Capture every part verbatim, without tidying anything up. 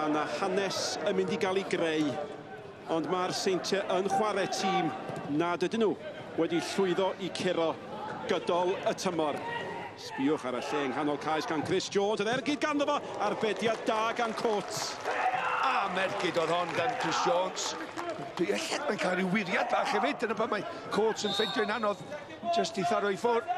Mae yna hanes yn mynd i gael ei greu, ond mae'r Seintiau yn chwarae tîm nad ydyn nhw wedi llwyddo i curo gydol y tymor. Sbiwch ar y lle yng nghanol cais gan Chris Jones, yr ergyd ganddo fo, arbediad da gan Coates. A mergyd oedd hon gan Chris Jones. Ella mae'n cael rhyw wiriad bach hefyd, dyna pan mae Coates yn ffeindio'n anodd, jyst i tharo i ffwrdd.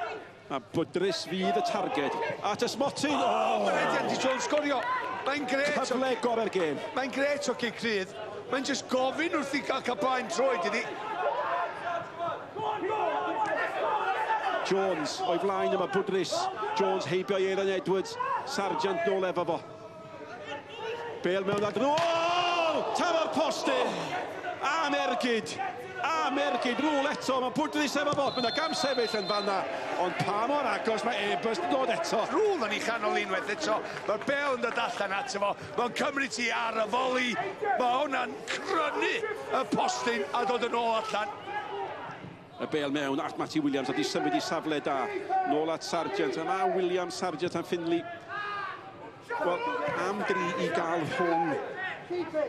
A Bwdrys fydd y targed. At y smotyn! O, oh, mae'n Andy Jones sgorio! Mae'n gret! Cyfle gorau'r gêm. Mae'n gret o cic rhydd. Mae'n jyst gofyn wrth i gael cael blaen troed iddi. Jones o'i flaen yma, Bwdrys. Jones heibio i Aaron Edwards. Sargent nôl efo fo. Bale mewn ad... O! Taro'r postyn! Am ergyd! Am ergyd, rôl eto, mae Bwdrys efo fo. Mae yna gam sefyll yn fanna, ond pa mor agos mae Airbus yn dod eto. Rôl yn ei chanol unwaith eto, mae'r bel yn dod allan ato fo, mae'n cymryd ti ar y foli, mae hwnna'n crynu y postyn a dod yn ôl allan. Y bel mewn at Matty Williams, a di symud i safle da. Nôl at Sargent, a mae Williams, Sargent a Finley. Wel, am dri i gael rhwng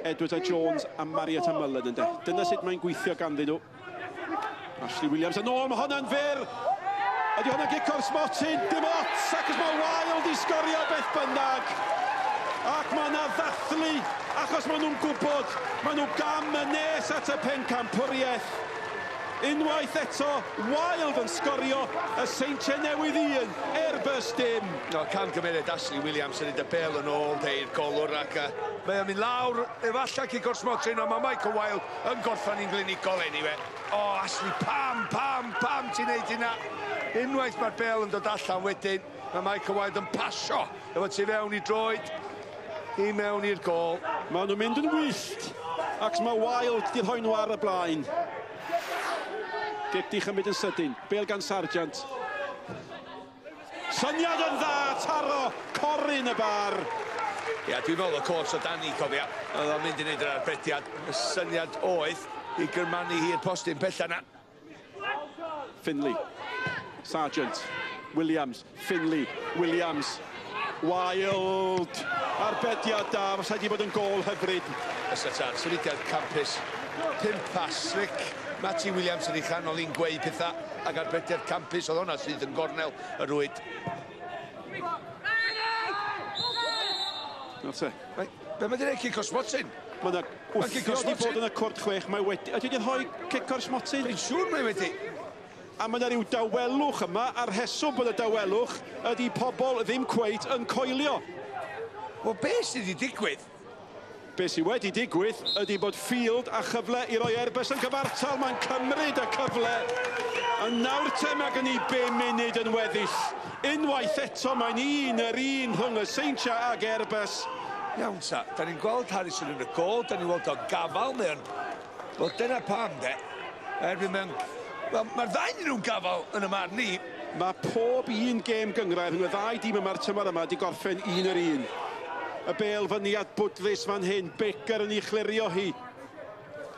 Edwards a Jones a Marriott a Mullen ynde. Dyna sut mae'n gweithio ganddyn nhw. Ashley Williams yn ôl, mae hwnna'n fyr. Ydy hwnna'n gic o'r smotyn, dim ots, ac mae Wilde i sgorio beth bynnag. Ac mae yna ddathlu, achos maen nhw'n gwybod, maen nhw gam yn nes at y pencampwriaeth. Unwaith eto, Wilde yn sgorio, y Seintiau Newydd un, Airbus dim. No, camgymeriad Ashley Williams yn neud y bel yn ôl de i'r golwr ac uh, mae o'n mynd lawr, efallai cic o'r smotyn, ond mae Michael Wilde yn gorffen i'n glinigol anyway. O, oh, Ashley, pam, pam, pam ti'n neud hynna? Unwaith mae'r bel yn dod allan wedyn, mae Michael Wilde yn pasio efo tu fewn i droed, i mewn i'r gôl. Maen nhw'n mynd yn wyllt, ac mae Wilde di rhoi nhw ar y blaen. Gic di chymryd yn sydyn, bel gan Sargent. Syniad yn dda, taro, coryn y bar. Ia, dwi'n meddwl y coach o Dani, cofia, oedd o'n mynd i wneud yr arbediad. Y syniad oedd i gyrmanu hi'r postyn pella na. Finley, Sargent, Williams, Finley, Williams, Wilde. Arbediad da, fysa di bod yn gôl hyfryd. Fysa ta, symudiad campus, pump pas, slick. Matty Williams yn ei chanol i'n gweu pethau ac arbediad campus, oedd hwnna sydd yn gornel y rwyd. Nawr te. Be mae di wneud cic o'r smotyn? Mae yna wthio di bod yn y cwrt chwech, mae wedi... Ydy wedi rhoi cic o'r smotyn? Dwi'n siŵr mae wedi. A mae yna rhyw dawelwch yma, a'r rheswm bod y dawelwch ydy pobl ddim cweit yn coelio. Wel, be sydd wedi digwydd? Be sydd wedi digwydd ydy bod Field a chyfle i roi Airbus yn cyfartal. Mae'n cymryd y cyfle. A nawr te mae gen i bum munud yn weddill. Unwaith eto mae'n un yr un rhwng y Seintiau ag Airbus. Iawn ta, da ni'n gweld Harrison yn y gôl, da ni'n gweld o'n gafal neu yn... Wel, dyna pam de. Erbyn mewn... Wel, mae'r ddau nhw'n gafal yn y marn ni. Mae pob un gêm gynghrair rhwng y ddau dîm yma'r tymor yma wedi gorffen un yr un. Y bel fyny at Bwdrys fan hyn, Baker yn ei chlirio hi.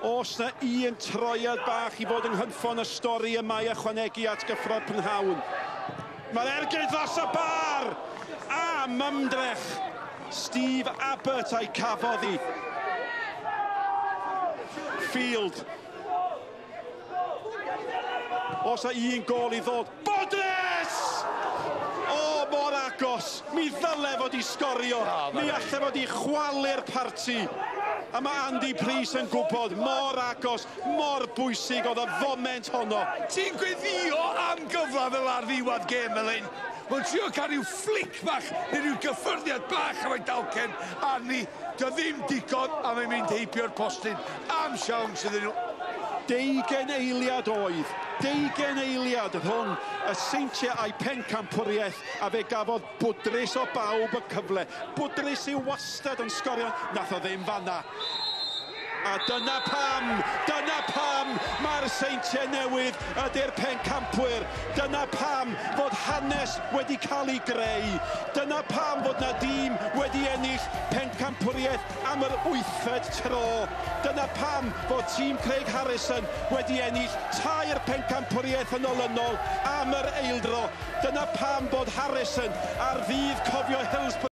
Oes na un troiad bach i fod yng nghynffon y stori yma i ychwanegu at gyffro'r prynhawn. Mae'r ergyd dros y bar! Am ymdrech! Steve Abbott a'i cafodd hi. Field. Oes na un gôl i ddod. Bwdrys! O, mor agos. Mi ddyle fod i sgorio. Oh, Mi alle fod i chwalu'r parti. A mae Andy Preece yn gwybod mor agos, mor bwysig oedd y foment honno. Ti'n gweddio am gyfle fel ar ddiwedd gêm fel hyn. Mae'n trio cael rhyw flic bach neu rhyw gyffyrddiad bach efo'i dalcen arni. Dio ddim digon a mae'n mynd heibio'r postyn am siawns iddyn nhw. Deugain eiliad oedd, deugain eiliad rhwng y Seintiau a'i pencampwriaeth, a fe gafodd Bwdrys o bawb y cyfle. Bwdrys yw wastad yn sgorio, nath o ddim fanna. A dyna pam, dyna pam mae'r Seintiau Newydd ydy'r pencampwyr. Dyna pam fod hanes wedi cael ei greu. Dyna pam fod na dîm wedi ennill pencampwriaeth am yr wythfed tro. Dyna pam fod tîm Craig Harrison wedi ennill tair pencampwriaeth yn olynol am yr eildro. Dyna pam bod Harrison ar ddydd cofio Hillsborough